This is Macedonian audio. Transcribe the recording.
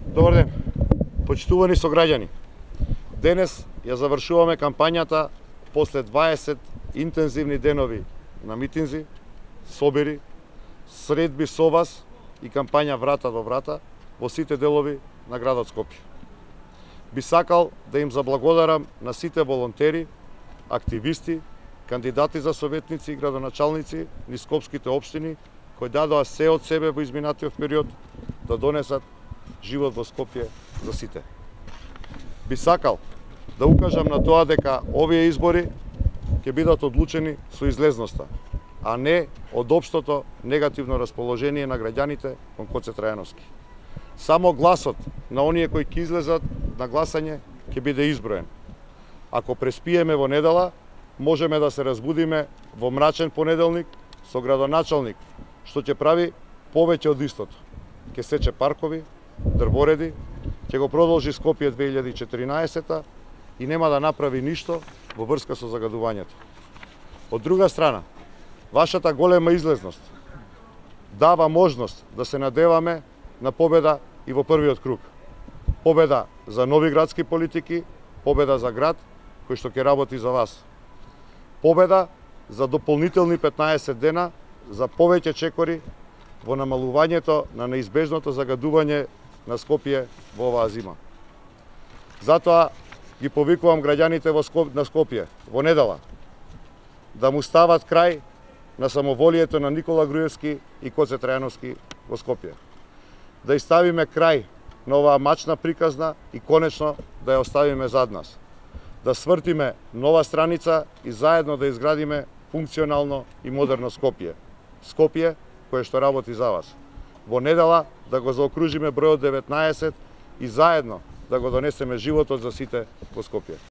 Добар ден, почитувани сограѓани. Денес ја завршуваме кампањата после 20 интензивни денови на митинзи, собери, средби со вас и кампања врата до врата во сите делови на градот Скопје. Би сакал да им заблагодарам на сите волонтери, активисти, кандидати за советници и градоначалници низ скопските општини кои дадоа се од себе во изминатиот период да донесат живот во Скопје за сите. Би сакал да укажам на тоа дека овие избори ќе бидат одлучени со излезноста, а не од општото негативно расположение на граѓаните кон Гоце Трајановски. Само гласот на оние кои ќе излезат на гласање ќе биде изброен. Ако преспиеме во недела, можеме да се разбудиме во мрачен понеделник со градоначалник што ќе прави повеќе од истото. Ќе сече паркови, дрвореди, ќе го продолжи Скопје 2014 и нема да направи ништо во врска со загадувањето. Од друга страна, вашата голема излезност дава можност да се надеваме на победа и во првиот круг. Победа за нови градски политики, победа за град кој што ќе работи за вас. Победа за дополнителни 15 дена за повеќе чекори во намалувањето на неизбежното загадување на Скопје во оваа зима. Затоа ги повикувам граѓаните на Скопје во недела да му стават крај на самоволието на Никола Груевски и Гоце Трајановски во Скопје. Да ставиме крај на оваа мачна приказна и конечно да ја оставиме зад нас. Да свртиме нова страница и заедно да изградиме функционално и модерно Скопје. Скопје кое што работи за вас. Во недела да го заокружиме бројот 19 и заедно да го донесеме животот за сите во Скопје.